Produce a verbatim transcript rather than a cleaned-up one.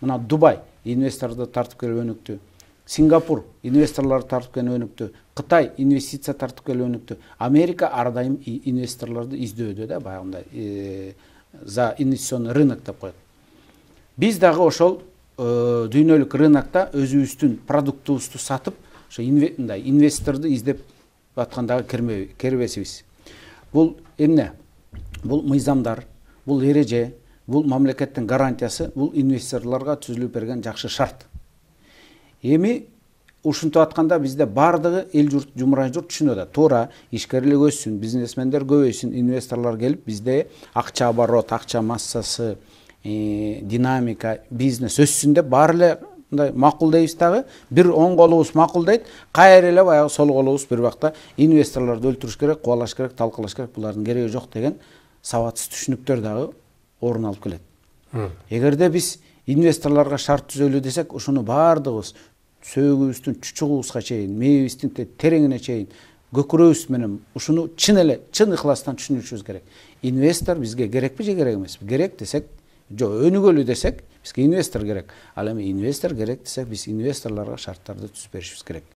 мына Дубай инвесторлорду тартып келип өнүктү. Сингапур инвесторлорду тартып келип өнүктү. Кытай инвестиция тартып келип өнүктү. Америка ар дайым инвесторлорду издөөдө да, баягындай за инвестиционный рынок деп коет. Биз дагы ошол дүйнөлүк рынокто өзүбүздүн продуктубузду сатып, ошо мындай инвесторду издеп аткандагы кербесибиз. Бул эмне? Бул мыйзамдар, бул эреже, бул мамлекеттин гарантиясы, бул инвесторлорго түзүлүп берген жакшы шарт. Эми ушинтип атканда бизде бардыгы эл журт, жумурай журт түшүнүп атат. Туура, ишкерлик өссүн, бизнесмендер көбөйсүн, инвесторлор келип бизде акча оборот, акча массасы, динамика, бизнес өссүн деп баары эле мындай макулдайбыз дагы, бир оң колубуз макулдайт, кайра эле баягы сол колубуз бир бакта инвесторлорду өлтүрүш керек, кубалаш керек, талкалаш керек, булардын кереги жок деген сабатсыз түшүнүктөр дагы орун алып келет. Эгерде биз инвесторлорго шарт түзөлү десек, ушуну бардыгыбыз сөөгүбүздүн чучугубузга чейин, мээбиздин тереңине чейин көкүрөбүз менен ушуну чын эле, чын ыхластан түшүнүшүбүз керек. Инвестор бизге керекпи же керек эмеспи? Керек десек, жок, өнүгөлү десек, бизге инвестор керек. Ал эми инвестор керек десек, биз инвесторлорго шарттарды түзүп беришибиз керек.